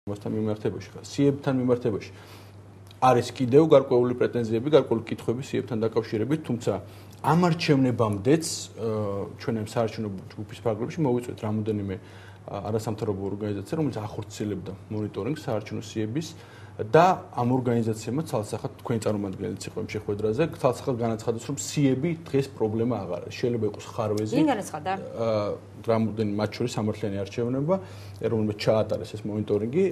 მასთან მიმართებაში ხარ. სიებთან მიმართებაში არის კიდევ გარკვეული პრეტენზიები, გარკვეული კითხვები სიებთან დაკავშირებით, თუმცა ამ არჩევნებამდეც ჩვენ ამ საარჩევნო ჯგუფის ფარგლებში მოვიწვევთ რამოდენიმე არასამთავრობო ორგანიზაცია, რომელიც ახორციელებდა მონიტორინგს საარჩევნო სიების და ამ ორგანიზაციებმა ცალსახად თქვენი წარმომადგენელიც იყო იმ შეხვედრაზე, ცალსახად განაცხადეს, რომ სიები დღეს პრობლემა აღარ არის. შეიძლება იყოს ხარვეზი. ვინ განაცხადა? რამოდენიმე მათ შორის სამართლიანი არჩევნობა, რომელმაც ჩაატარეს ეს მონიტორინგი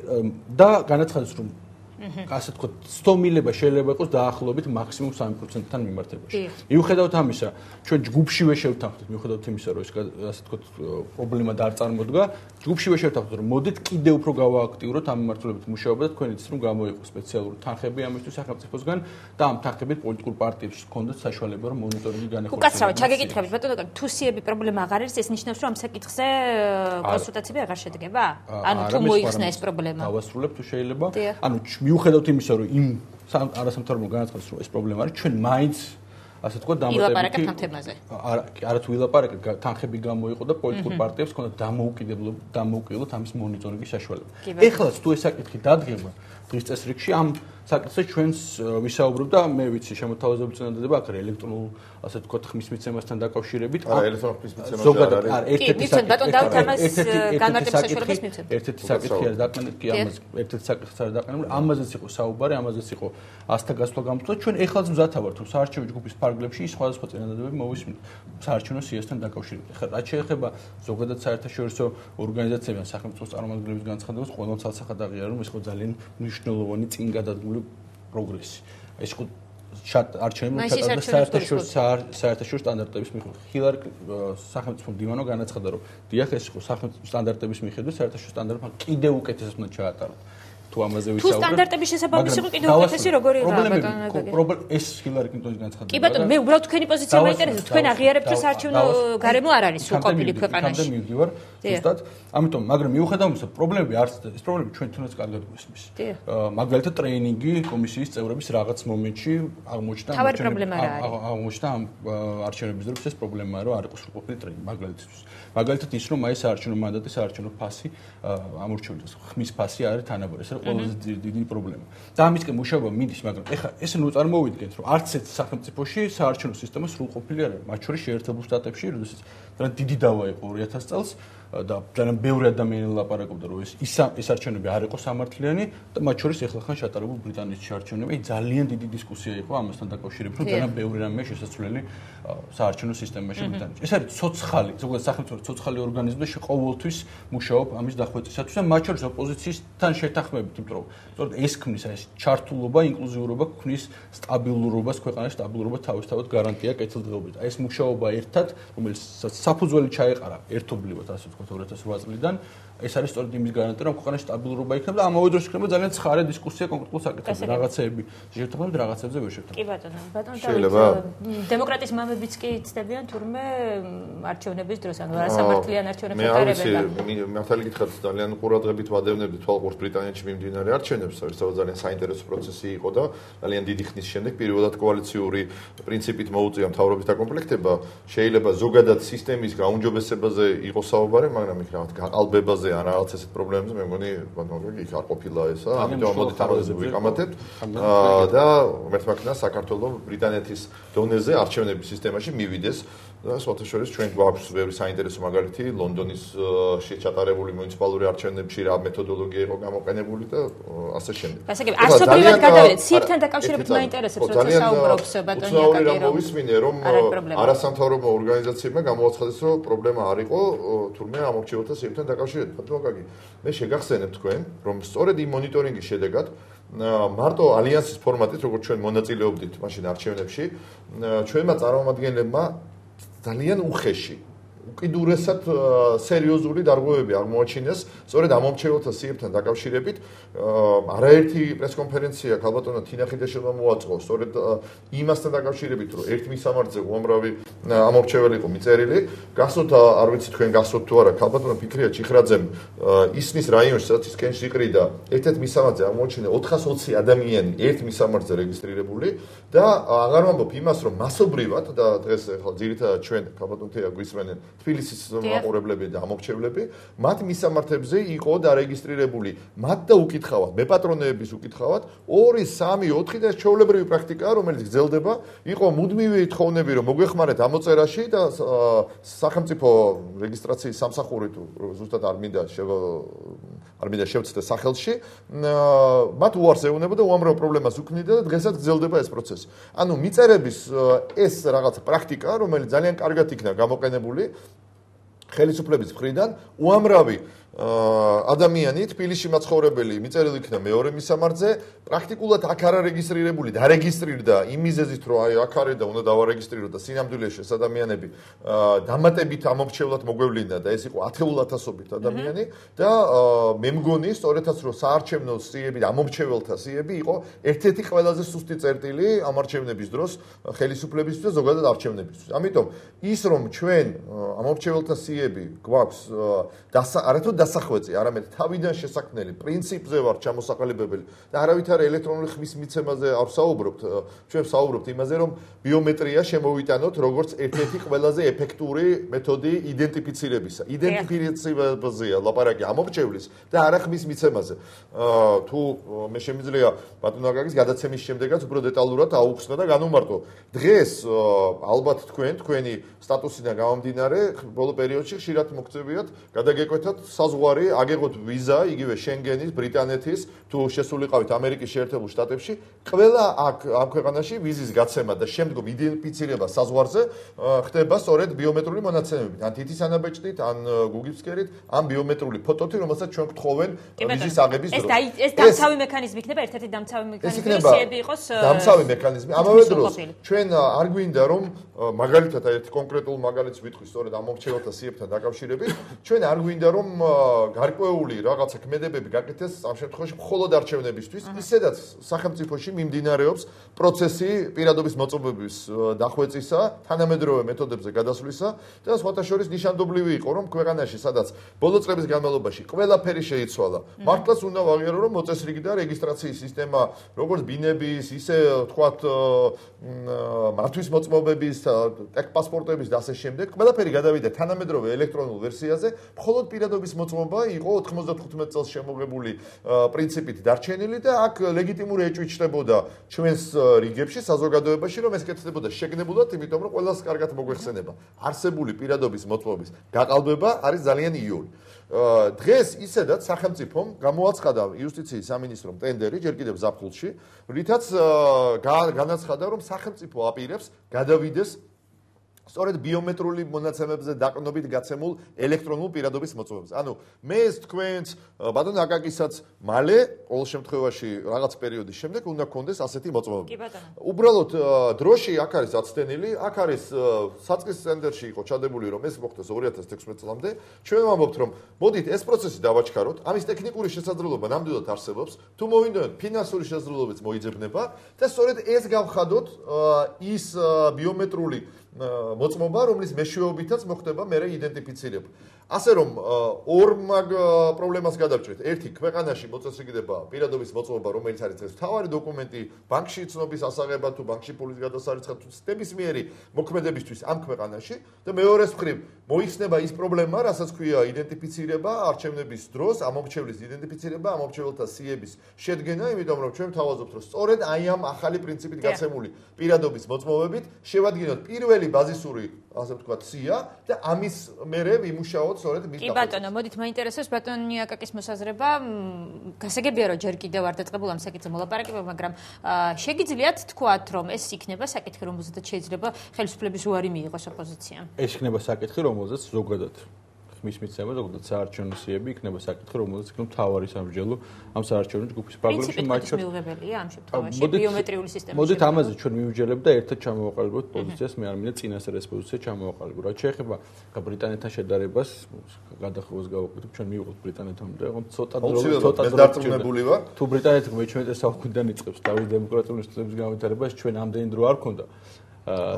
და განაცხადეს, რომ ასე ვთქვათ, სტომილება შეიძლება იყოს დაახლოებით მაქსიმუმ 3%-თან მიმართებაში. მიუხედავად ამისა, ჩვენ ჯგუფშივე შევთანხმდით, მიუხედავად იმისა, რომ ეს ასე ვთქვათ, პრობლემა არ წარმოდგა, ჯგუფშივე შევთანხმდით, რომ მოდით კიდევ უფრო გავააქტიუროთ ამ მიმართულებით მუშაობა და თქვენ იცით, რომ გამოიყო სპეციალური თანხები ამისთვის სახელმწიფოსგან და ამ თანხებით პოლიტიკურ პარტიებს ჰქონდათ საშუალება, რომ მონიტორინგი განეხორციელონ. უკაცრავად ჩაგეკითხებით, ბატონო, თუ სიები პრობლემა აღარ არის, ეს ნიშნავს, რომ ამ საკითხზე კონსულტაციები აღარ შედგება? ანუ თუ მოიხსნა ეს პრობლემა. დავასრულებ თუ შეიძლება. ანუ მიუხედავად იმისა, რომ იმ არასამთავრობო განაცხადეს, რომ ეს პრობლემა არის, ჩვენ მაინც ასე ვთქვათ, ილაპარაკებთ ამ თემაზე. არათუ ვილაპარაკებთ, თანხები გამოიყო და პოლიტიკურ პარტიებს ჰქონდათ დამოუკიდებლად ამის მონიტორინგის საშუალება. ეხლაც თუ ეს საკითხი დადგება დღის წესრიგში, ამ საკითხზე ჩვენს ვისაუბრობ და მე ვიცი შემოთავაზებული წინადადება აქ ელექტრონულ ასე ვთქვათ ხმის მიცემასთან დაკავშირებით. ელექტრონულ ხმის მიცემასთან არის. ერთ-ერთი საკითხი არის დაყენებული, ამაზე ერთ-ერთი საკითხი არის დაყენებული, ამაზეც იყო საუბარი, ამაზეც იყო ასთა გასვლა გამოცდა. ჩვენ ეხლაც მზათა ვართ, რომ საარჩევნო ჯგუფის ფარგლებში სხვადასხვა წინადადებები მოვისმინოთ საარჩევნო სიესთან დაკავშირებით. ეხლა რაც შეეხება ზოგადად საერთაშორისო ორგანიზაციებთან სახელმწიფო წარმომადგენლების განცხადებას, ყოველ ცალსახად აღიარა, რომ ეს იყო ძალიან მნიშვნელოვანი წინ გადადგმული პროგრესი. ეს იყო არჩევნები საერთაშორისო სტანდარტების მიხედვით. ხილარ სახელმწიფო მდივანო განაცხადა, რომ დიახ, ეს იყო სახელმწიფო სტანდარტების მიხედვით საერთაშორისო სტანდარტებმა კიდევ უკეთესად უნდა ჩაატაროთ. თუ ამაზე ვისაუბრებთ. თუ სტანდარტების შესაბამისი იყო კიდევ უკეთესი როგორი პრობლემა ეს ჰილარი კლინტონის განცხადება. კი ბატონო, მე უბრალოდ თქვენი პოზიცია მაინტერესებს. თქვენ აღიარებთ, რომ საარჩევნო გარემო არ არის სულ ყოფილი ქვეყანაში. თამდე მივდივარ, ზუსტად. ამიტომ, მაგრამ მიუხედავად იმისა, პრობლემები არც ეს პრობლემები ჩვენ თუნდაც კარგად გვესმის. მაგალითად, ტრეინინგი კომისიის წევრების რაღაც მომენტში აღმოჩნდა ამ არჩევნების დროს ეს პრობლემაა, რომ არ იყო სრულყოფილი ტრეინინგი მაგალითად ის, რომ აი საარჩევნო მანდატი, საარჩევნო ფასი ამორჩეულდეს. ხმის ფასი არის თანაბარი. ეს არის ყველაზე დიდი პრობლემა. და ამისკენ მუშაობა მიდის, მაგრამ ეხლა ეს ნუ წარმოვიდგენთ, რომ არც ერთ სახელმწიფოში საარჩევნო სისტემა სრულყოფილი არ არის. მათ შორის შეერთებულ შტატებში, როდესაც ძალიან დიდი დავა იყო 2000 წელს და ძალიან ბევრი ადამიანი ლაპარაკობდა, რომ ეს არჩევნები არ იყო სამართლიანი და მათ შორის ეხლა ხან ჩატარებულ ბრიტანეთის არჩევნები. ძალიან დიდი დისკუსია იყო ამასთან დაკავშირებით, რომ ძალიან ბევრი რამე შესაძლებელი საარჩევნო სისტემაში ბრიტანეთში. ეს არის ცოცხალი, ზოგადად სახელმწიფო ცოცხალი ორგანიზმი და ყოველთვის მუშაობ ამის დახვეწისათვის და მათ შორის ოპოზიციისთან შეთანხმებით, იმიტომ რომ სწორედ ეს ქმნის ეს ჩართულობა, ინკლუზიურობა ქმნის სტაბილურობას, ქვეყანაში სტაბილურობა თავისთავად გარანტია კეთილდღეობით. ეს მუშაობა ერთად, რომელიც საფუძველი ჩაეყარა ერთობლივად, ასე ვთქვათ, 2008 წლიდან, ეს არის სწორედ იმის გარანტია, რომ ქვეყანაში სტაბილურობა იქნება და ამავე დროს იქნება ძალიან ცხარე დისკუსია კონკრეტულ საკითხებზე, რაღაცეები შევთანხმდით, რაღაცებზე ვერ შევთანხმდით. კი ბატონო, დავით, დემოკრატიის მამებიც კი ცდებიან თურმე არჩევნების დროს, ანუ არასამართლიან არჩევნებს ატარებენ. მართალი გითხრათ, ძალიან ყურადღებით ვადევნებდი თვალყურს ბრიტანეთში მიმდინარე არჩევნებს, სადაც ძალიან საინტერესო პროცესი იყო და ძალიან დიდი ხნის შემდეგ პირველად კოალიციური პრინციპით მოუწია მთავრობის დაკომპლექტება. შეიძლება ზოგადად სისტემის გაუმჯობესებაზე იყოს საუბარი, მაგრამ იქ რაღაც გაყალბებაზე ან რაღაც ესეთ პრობლემებზე მე მგონი ბატონო იქ არ ყოფილა ესა, ამიტომ მოდით ამაზე ვიკამათებთ და მერტმაკნა საქართველოს ბრიტანეთის დონეზე არჩევნების სისტემაში მივიდეს და სხვათა შორის ჩვენ გვაქვს ბევრი საინტერესო მაგალითი ლონდონის შეჩატარებული მუნიციპალური არჩევნებში რა მეთოდოლოგია იყო გამოყენებული და ასე შემდეგ. გასაგები, ასობრივად გადავიდეთ, სიებთან დაკავშირებით მაინტერესებს, როცა საუბრობს ბატონი აკაკი, რომ მოვისმინე, რომ არასამთავრობო ორგანიზაციებმა გამოაცხადეს, რომ პრობლემა არ იყო, თურმე ამორჩეულთა სიებთან დაკავშირებით. ბატონო აკაკი, მე შეგახსენებ თქვენ, რომ სწორედ იმ მონიტორინგის შედეგად მარტო ალიანსის ფორმატით, როგორც ჩვენ მონაწილეობდით მაშინ არჩევნებში, ჩვენმა წარმომადგენლებმა ძალიან უხეში უკიდურესად სერიოზული დარღვევები აღმოაჩინეს სწორედ ამომრჩეველთა სიებთან დაკავშირებით. არაერთი პრესკონფერენცია ქალბატონო თინახიდაშვილმა მოაწყო სწორედ იმასთან დაკავშირებით, რომ ერთ მისამართზე უამრავი ამომრჩეველი იყო მიწერილი. გახსოვთ, არ ვიცი თქვენ გახსოვთ თუ არა, ქალბატონო ფიქრია ჩიხრაძემ ისნის რაიონში, სადაც ის კენჭს იყრიდა, ერთ-ერთ მისამართზე აღმოაჩინა 420 ადამიანი ერთ მისამართზე რეგისტრირებული და აღარ ვამბობ იმას, რომ მასობრივად და დღეს ახლა ძირითადად ჩვენ ქალბატონთია გვისმენენ თბილისის მაყურებლები და ამორჩევლები, მათ მისამართებზე იყო დარეგისტრირებული, მათ და უკითხავად, მეპატრონეების უკითხავად 2, 3, 4 და ეს ჩვეულებრივი პრაქტიკაა, რომელიც გრძელდება, იყო მუდმივი თხოვნები, რომ მოგვეხმარეთ ამოწერაში და სახელმწიფო რეგისტრაციის სამსახური თუ ზუსტად არ მინდა შევცდე სახელში, მათ უარს ეუბნება და უამრავ პრობლემას უქმნიდა და დღესაც გრძელდება ეს პროცესი. ანუ მიწერების ეს რაღაც პრაქტიკა, რომელიც ძალიან კარგად იქნა გამოყენებული ხელისუფლების მხრიდან, უამრავი ადამიანი თბილისში მაცხოვრებელი მიწერილი იქნა მეორე მისამართზე, პრაქტიკულად აქ არ არეგისტრირებული, დარეგისტრირდა იმ მიზეზით, რომ აი აქ არის და უნდა დავარეგისტრირო და სინამდვილეში ეს ადამიანები დამატებით ამორჩევლად მოგვევლინა და ეს იყო 10,000-ობით ადამიანი და მე მგონი სწორედაც რომ საარჩევნო სიები და ამორჩეველთა სიები იყო ერთ-ერთი ყველაზე სუსტი წერტილი ამორჩევნების დროს ხელისუფლებისთვის და ზოგადად არჩევნებისთვის. ამიტომ ის რომ ჩვენ ამორჩეველთა სიები გვაქვს არათუ დასახვეწი, არამედ თავიდან შესაქმნელი პრინციპზე ვარ ჩამოსაყალიბებელი და არავითარი ელექტრონული ხმის მიცემაზე არ ვსაუბრობთ, ჩვენ ვსაუბრობთ იმაზე, რომ ბიომეტრია შემოვიტანოთ როგორც ერთ-ერთი ყველაზე ეფექტური მეთოდი იდენტიფიცირებისა. იდენტიფიცირებაზეა ლაპარაკი ამორჩევლის და არა ხმის მიცემაზე. თუ მე შემიძლია ბატონ აკაკის გადაცემის შემდეგაც უფრო დეტალურად აუხსნა და განუმარტო. დღეს ალბათ თქვენი სტატუსიდან გამომდინარე, ბოლო პერიოდში ხშირად მოგწევიათ გადაგეკვეთათ საზღვარი, აგեղოთ ვიზა, იგივე შენგენის, ბრიტანეთის, თუ შესულიყავით ამერიკის შეერთებულ შტატებში, ყველა ამ ქვეყანაში ვიზის გაცემა და შემდგომ იდენტიფიცირება საზღვარზე ხდება სწორედ ბიომეტრიული მონაცემებით, ან თითის ანაბეჭდით, ან გუგლისკერით, ან ბიომეტრიული ფოტოთი, რომელსაც ჩვენ გთხოვენ ვიზის აღების დროს. ეს დამცავი მექანიზმი იქნება, ერთ-ერთი დამცავი მექანიზმი, სიები იყოს დამცავი მექანიზმი. ამავე დროს ჩვენ არ გვინდა რომ მაგალითად ერთ კონკრეტულ მაგალითს ვიტყვი სწორედ ამორჩეველთა სიებთან დაკავშირებით, ჩვენ არ გვინდა რომ გარკვეული რაღაცა ქმედებები გაკეთდეს ამ შემთხვევაში მხოლოდ არჩევნებისთვის, ისედაც სახელმწიფოში მიმდინარეობს პროცესი პირადობის მოწმობების დახვეწისა, თანამედროვე მეთოდებზე გადასვლისა და სხვათა შორის ნიშანდობლივი იყო რომ ქვეყანაში სადაც ბოლო წლების განმავლობაში ყველაფერი შეიცვალა. მართლაც უნდა ვაღიარო რომ მოწესრიგდა რეგისტრაციის სისტემა, როგორც ბინების, ისე თქვათ მართვის მოწმობების, ტექპასპორტების და ასე შემდეგ. ყველაფერი გადავიდა თანამედროვე ელექტრონულ ვერსიაზე, მხოლოდ პირადობის მოწმობა იყო 95 წელს შემოღებული პრინციპით დარჩენილი და აქ ლეგიტიმური ეჭვი ჩნდებოდა ჩვენს რიგებში, საზოგადოებაში, რომ ეს კეთდებოდა შეგნებულად, იმიტომ რომ ყველას კარგად მოგვეხსენება. არსებული პირადობის მოწმობის გაყალბება არის ძალიან იური. დღეს ისედაც სახელმწიფომ გამოაცხადა იუსტიციის სამინისტრომ ტენდერი ჯერ კიდევ ზაფხულში, რითაც განაცხადა, რომ სახელმწიფო აპირებს გადავიდეს სწორედ ბიომეტრიული მონაცემებზე დაყრდნობით გაცემულ ელექტრონულ პირადობის მოწმობებს. ანუ მე ეს თქვენს ბატონ აკაკისაც მალე ყოველ შემთხვევაში რაღაც პერიოდის შემდეგ უნდა გქონდეს ასეთი მოწმობები. უბრალოდ დროში აქ არის აცდენილი, აქ არის საწყის ცენტრში იყო ჩადებული რომ ეს მოხდეს 2016 წლამდე. ჩვენ ვამბობთ რომ მოდით ეს პროცესი დავაჩქაროთ, ამის ტექნიკური შესაძლებლობა ნამდვილად არსებობს, თუ მოვინდომთ ფინანსური შესაძლებლობაც მოიძებნება და სწორედ ეს გავხადოთ ის ბიომეტრიული მოწმობა, რომლის მეშვეობითაც მოხდება მერე იდენტიფიცირება. ასე რომ ორ მაგ პრობლემას გადავჭრით. ერთი, ქვეყანაში მოწესრიგდება პირადობის მოწმობა, რომელიც არის ეს მთავარი დოკუმენტი ბანკში ცნობის ასაღება თუ ბანკში ფულის გადასარიცხად თუ ნებისმიერი მოქმედებისთვის ამ ქვეყანაში და მეორეს მხრივ მოიხსნება ის პრობლემა, რასაც ქვია იდენტიფიცირება არჩევნების დროს, ამორჩევლის იდენტიფიცირება, ამორჩეველთა სიების შედგენა, იმიტომ რომ ჩვენ ვთავაზობთ, რომ სწორედ აი ამ ახალი პრინციპით გაცემული პირადობის მოწმობებით შევადგენოთ პირველი ბაზისური, ასე ვთქვათ, სია და ამის მერე ვიმუშაოთ სწორედ მის კი ბატონო, მოდით მაინტერესებს ბატონი აკაკის მოსაზრება. გასაგებია რომ ჯერ კიდევ არ დაწყებულ ამ საკითხზე მოლაპარაკება, მაგრამ შეგიძლიათ თქვათ რომ ეს იქნება საკითხი, რომელზეც შეიძლება ხელისუფლების უარი მიიღოს ოპოზიციამ. ეს იქნება საკითხი, რომელზეც ზოგადად ხმის მიცემა, ზოგადად საარჩევნო სიები იქნება საკითხი, რომელზეც იქნება მთავარი სამსჯელო ამ საარჩევნო ჯგუფის პრობლემებში მაჩვენებელია მიუღებელია ამ შემთხვევაში ბიომეტრიული სისტემის. მოდით ამაზე ჩვენ მივიჯერებთ და ერთად ჩამოვაყალიბოთ პოზიციას, მე არ მინდა წინასწარ ეს პოზიცია ჩამოვაყალიბო. რაც შეეხება ბრიტანეთთან შედარებას, გადახვევას გავაკეთებ, ჩვენ მივიღოთ ბრიტანეთთან და ცოტა დარწმუნებული ვარ. თუ ბრიტანეთი მე-17 საუკუნიდან იწყებს დავით დემოკრატიული ინსტიტუტების განვითარებას, ჩვენ ამდენი დრო არ ქონდა.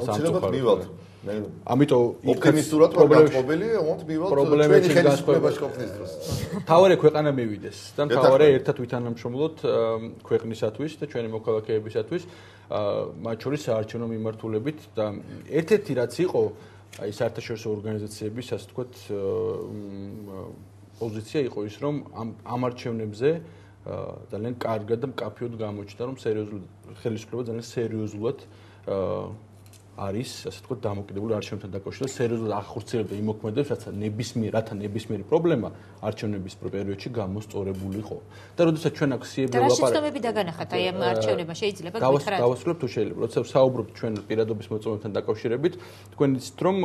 სამწუხაროდ ამიტომ ოპტიმისტურად ვარ გაწყობილი, ვონთ მივალთ ჩვენი ხელისუფლებაში ყოფნის დროს. თავარი ქვეყანა მივიდეს და თავარი ერთად ვითანამშრომლოთ ქვეყნისათვის და ჩვენი მოქალაქეებისათვის, მათ შორის საარჩევნო მიმართულებით და ერთ-ერთი რაც იყო აი საერთაშორისო ორგანიზაციების ასე ვთქვათ პოზიცია იყო ის, რომ ამ არჩევნებზე ძალიან კარგად და მკაფიოდ გამოჩნდა, რომ სერიოზულად ხელისუფლება ძალიან სერიოზულად არის, ასე ვთქვათ, დამოკიდებული არჩევნებთან დაკავშირებით, სერიოზულად ახორციელებდა იმ მოქმედებს, რათა ნებისმიერი პრობლემა არჩევნების პერიოდში გამოსწორებული იყო. და როდესაც ჩვენ აქ სიები ვლაპარაკობთ, რა შეცდომები დაგანახათ აი ამ არჩევნებმა შეიძლება გითხრათ? გავასრულებ თუ შეიძლება. როდესაც საუბრობთ ჩვენ პირადობის მოწმობებთან დაკავშირებით, თქვენ იცით, რომ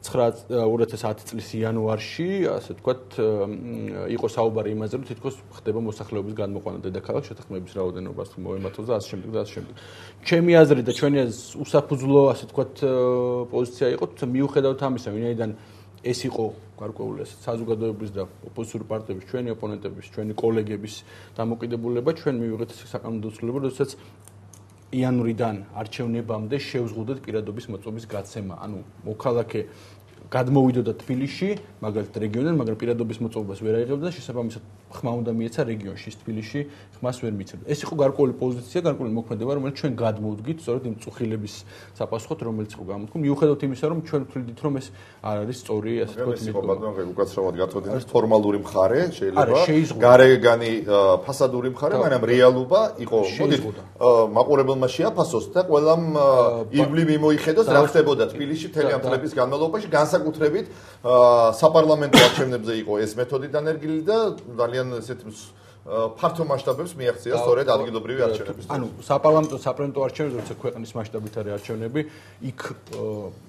2010 წლის იანვარში, ასე ვთქვათ, იყო საუბარი იმაზე, რომ თითქოს ხდება მოსახლეობის გადმოყვანა დედაქალაქ შეთანხმების რაოდენობას თუ მოემართოს და ასე შემდეგ და ასე შემდეგ. ჩემი აზრი და ჩვენი უსაფუძვლო, ასე ვთქვათ, პოზიცია იყო, თუმცა მიუხედავად ამისა, ვინაიდან ეს იყო გარკვეული საზოგადოების და ოპოზიციური პარტიების, ჩვენი ოპონენტების, ჩვენი კოლეგების დამოკიდებულება, ჩვენ მივიღეთ საკანონმდებლო ცვლილება, როდესაც იანვრიდან არჩევნებამდე შევზღუდეთ პირადობის მოწმობის გაცემა. ანუ მოქალაქე გადმოვიდოდა თბილისში, მაგალითად რეგიონიდან, მაგრამ პირადობის მოწმობას ვერ აიღებდა და შესაბამისად ხმა უნდა მიეცა რეგიონში, თბილისში ხმას ვერ მიცემდა. ეს იყო გარკვეული პოზიცია, გარკვეული მოქმედება, რომელიც ჩვენ გადმოვდგით, სწორედ იმ წუხილების საპასუხოდ, რომელიც იყო გამოთქმული. მიუხედავად იმისა, რომ ჩვენ ვთვლიდით, რომ ეს არ არის სწორი, ასე ვთქვათ, ეს იყო ბატონო უკაცრავად გაწოდინეს ფორმალური მხარე, შეიძლება გარეგანი ფასადური მხარე, მაგრამ რეალობა იყო, მოდით, მაყურებელმა შეაფასოს და ყველამ ირგვლივ მიმოიხედოს, რა ხდებოდა თბილისში მთელი ამ წლების განმავლობაში, განსაკუთრებით საპარლამენტო არჩევნებზე იყო ეს მეთოდი დანერგილი და ძალიან ესეთ ფართო მასშტაბებს მიაღწია სწორედ ადგილობრივი არჩევნების. ანუ საპარლამენტო არჩევნებზე, როცა ქვეყნის მასშტაბით არის არჩევნები, იქ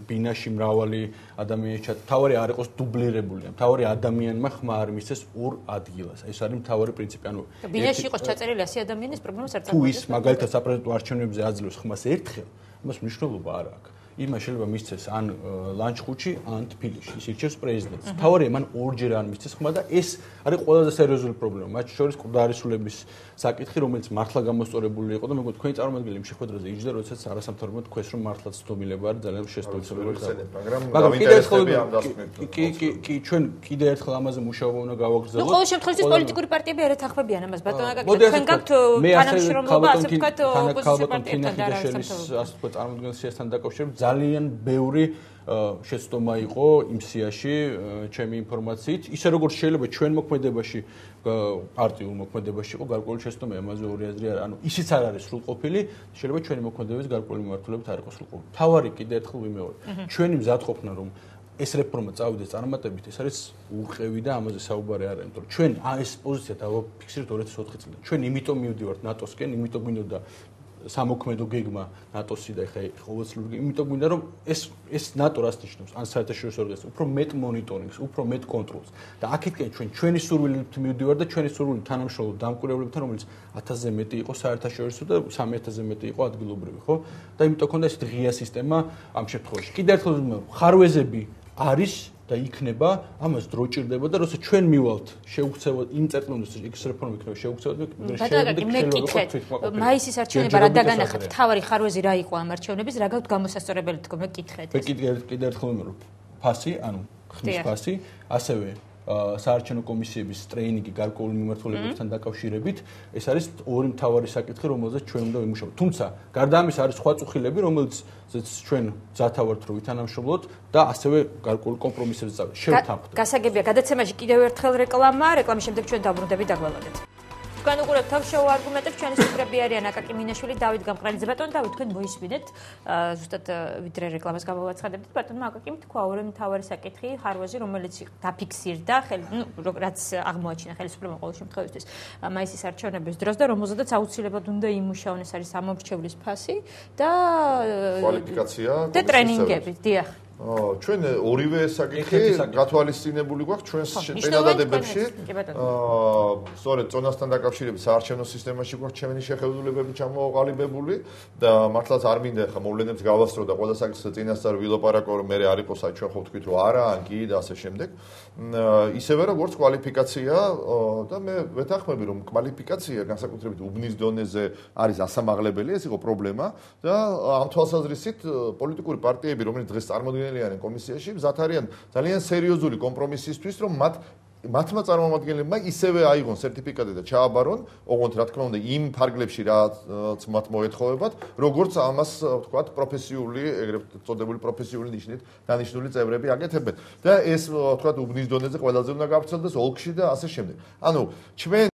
ბინაში მრავალი ადამიანი ჩათ. თავარი არ იყოს დუბლირებული. თავარი ადამიანმა ხმა არ მისცეს ორ ადგილას. ეს არის მთავარი პრინციპი. ანუ ბინაში იყოს ჩაწერილი 100 ადამიანის პრობლემას არ წარმოადგენს. თუ ის მაგალითად საპარლამენტო არჩევნებზე აძლევს ხმას ერთხელ, იმას მნიშვნელობა არ აქვს. იმას შეიძლება მისცეს ან ლანჩხუთში, ან თბილისში. ის ირჩევს პრეზიდენტს. თავარია მან ორჯერ არ მისცეს ხმა და ეს არის ყველაზე სერიოზული პრობლემა. მათ შორის ყდარისულების საკითხი, რომელიც მართლა გამოსწორებული იყო და მეგონა თქვენი წარმომადგენელი იმ შეხვედრაზე იჯდა, როდესაც არასამთავრობო თქვეს, რომ მართლაც ცდომილება არის ძალიან შესაძლებელი. მაგრამ კიდევ ერთხელ კი ჩვენ კიდევ ერთხელ ამაზე მუშაობა უნდა გავაგრძელოთ. ნუ ყოველ შემთხვევაში პოლიტიკური პარტიები არ ეთანხმებიან ამას. ბატონო აკაკი, თქვენ გაქვთ თანამშრომლობა, ასე ვთქვათ, ოპოზიციური პარტიებთან და არასამთავრობო, ასე ვთქვათ, წარმომადგენლობასთან დაკავშირებით ძალიან ბევრი შეცდომა იყო იმ სიაში ჩემი ინფორმაციით. ისე როგორც შეიძლება ჩვენ მოქმედებაში პარტიულ მოქმედებაში იყო გარკვეული შეცდომა, ამაზე ორი აზრი არა. ანუ ისიც არ არის სრულყოფილი, შეიძლება ჩვენი მოქმედების გარკვეული მიმართულებით არ იყოს სრულყოფილი. თავარი კიდევ ერთხელ ვიმეორე. ჩვენი მზადყოფნა რომ ეს რეფორმა წავიდეს წარმატებით, ეს არის ურყევი და ამაზე საუბარი არ არის, იმიტომ რომ ჩვენ ეს პოზიცია დავაფიქსირეთ 2004 წლიდან. ჩვენ იმიტომ მივდივართ ნატოსკენ, იმიტომ გვინდოდა სამოქმედო გეგმა ნატოსი და ეხა ყოველწლიური, იმიტომ გვინდა რომ ეს ნატო რას ნიშნავს, ან საერთაშორისო ორგანიზაცია, უფრო მეტ მონიტორინგს, უფრო მეტ კონტროლს და აქეთკენ ჩვენი სურვილით მივდივართ და ჩვენი სურვილი თანამშრომლობ დამკვირვებლებთან, რომელიც 1000-ზე მეტი იყო საერთაშორისო და 3000-ზე მეტი იყო ადგილობრივი, ხო? და იმიტომ ქონდა ეს ღია სისტემა ამ შემთხვევაში. კიდევ ერთხელ ვიმეორებ, ხარვეზები არის და იქნება, ამას დრო ჭირდება და როცა ჩვენ მივალთ შეუქცევად იმ წერტილს ეს რეფორმა იქნება შეუქცევად მაისის არჩევნებმა რა დაგანახათ, თავარი ხარვეზი რა იყო ამ არჩევნების, რა გაქვთ გამოსასწორებელი თქო, მე კითხეთ. კიდევ ერთხელ ვიმეორებ, ფასი, ანუ ხმის ფასი, ასევე საარჩევნო კომისიების ტრეინინგი გარკვეული მიმართულებებთან დაკავშირებით, ეს არის ორი მთავარი საკითხი, რომელზეც ჩვენ უნდა ვიმუშაოთ. თუმცა, გარდა ამისა არის სხვა წუხილები, რომელზეც ჩვენ ძათავართ რომ ვითანამშრომლოთ და ასევე გარკვეული კომპრომისებზე შევთანხმდეთ. გასაგებია, გადაცემაში კიდევ ერთხელ რეკლამის შემდეგ ჩვენ დაბრუნდებით დაგვალოდეთ. თქვენ უყურებთ თავშოუ არგუმენტებს, ჩვენი სტრუქტურები არიან აკაკი მინაშვილი, დავით გამყრალიძე. ბატონო დავით, თქვენ მოისმინეთ, ზუსტად ვიდრე რეკლამას გამოვაცხადებთ, ბატონო აკაკიმ თქვა ორი მთავარი საკითხი, ხარვეზი, რომელიც დაფიქსირდა, რაც აღმოაჩინა ხელისუფლებამ ყოველ შემთხვევაში მაისის არჩევნების დროს და რომელზედაც აუცილებლად უნდა იმუშაონ, ეს არის ამომრჩევლის ფასი და კვალიფიკაცია და ტრენინგები, დიახ. ჩვენ ორივე საკითხი გათვალისწინებული გვაქვს ჩვენს წინადადებებში. სწორედ წონასთან დაკავშირებით საარჩევნო სისტემაში გვაქვს ჩემი შეხედულებები ჩამოყალიბებული და მართლაც არ მინდა ხა მოვლენებს გავასწრო და ყველა საკითხზე წინასწარ ვილაპარაკო რომ მე არ იყოს აი ჩვენ ხო ვთქვით რომ არა ან კი და ასე შემდეგ. ისევე როგორც კვალიფიკაცია და მე ვეთანხმები რომ კვალიფიკაცია განსაკუთრებით უბნის დონეზე არის ასამაღლებელი, ეს იყო პრობლემა და ამ თვალსაზრისით პოლიტიკური პარტიები, რომელიც დღეს წარმოგიდგენლიან კომისიაში, მზად არიან ძალიან სერიოზული კომპრომისისთვის, რომ მათ მათმა წარმომადგენლებმა ისევე აიღონ სერტიფიკატი და ჩააბარონ, ოღონდ რა თქმა უნდა იმ ფარგლებში რაც მათ მოეთხოვებათ, როგორც ამას ვთქვათ პროფესიული, ეგრეთ წოდებული პროფესიული ნიშნით დანიშნული წევრები აკეთებენ. და ეს ვთქვათ უბნის დონეზე ყველაზე უნდა გავრცელდეს ოლქში და ასე შემდეგ. ანუ ჩვენ